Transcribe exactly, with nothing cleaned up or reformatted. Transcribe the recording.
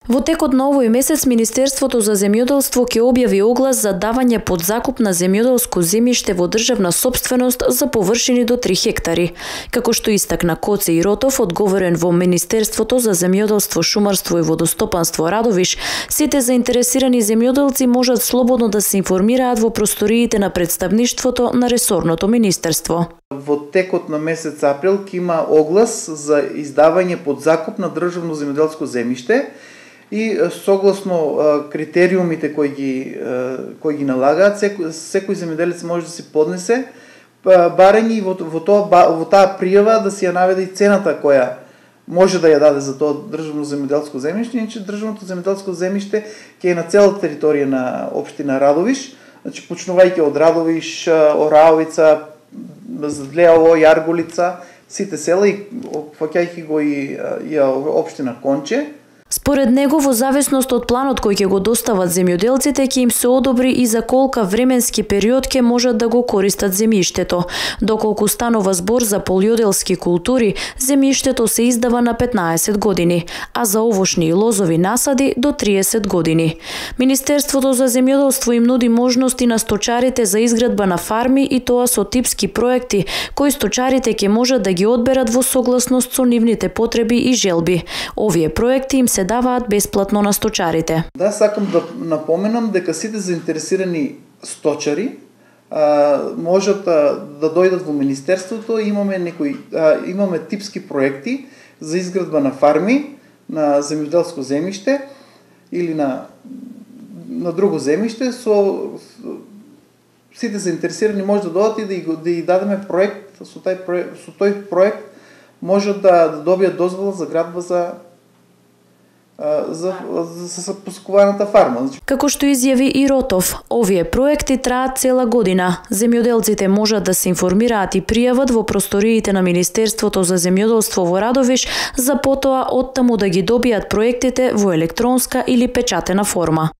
Во текот на овој месец Министерството за земјоделство ќе објави оглас за давање под закуп на земјоделско земјиште во државна сопственост за површини до три хектари. Како што истакна Коце Иротов, одговорен во Министерството за земјоделство, шумарство и водостопанство Радовиш, сите заинтересирани земјоделци можат слободно да се информираат во просториите на представништвото на ресорното министерство. Во текот на месец април ќе има оглас за издавање под закуп на државно земјоделско земјиште и согласно критериумите кои ги кои ги налагаат, секој, секој земјоделец може да си поднесе барање и во, во тоа во таа пријава да си ја наведе и цената која може да ја даде за тоа државно земјоделско земјиште, иначе државното земјоделско земјиште ќе е на целата територија на општина Радовиш, значи почнувајќи од Радовиш, Ораовица, Злеово, Јарголица, сите села и опфаќајќи го и, и општина Конче. Според него, во зависност од планот кој ќе го достават земјоделците, ќе им се одобри и за колка временски период ќе можат да го користат земјиштето. Доколку станува збор за полјоделски култури, земјиштето се издава на петнаесет години, а за овошни и лозови насади до триесет години. Министерството за земјоделство им нуди можности на сточарите за изградба на фарми и тоа со типски проекти, кои сточарите ќе можат да ги одберат во согласност со нивните потреби и желби. Овие проекти им се даваат бесплатно на сточарите. Да, сакам да напоменам дека сите заинтересирани сточари а, можат а, да дојдат во министерството. Имаме некои а, имаме типски проекти за изградба на фарми на земјоделско земјиште или на на друго земјиште, со сите заинтересирани може да дојдат и да, да и дадеме проект, со тај проект, со тој проект можат да, да добијат дозвола за градба за за, за, за посекуваната фарма. Како што изјави Иротов, овие проекти траат цела година. Земјоделците можат да се информираат и пријават во просториите на Министерството за земјоделство во Радовиш, за потоа оттаму да ги добијат проектите во електронска или печатена форма.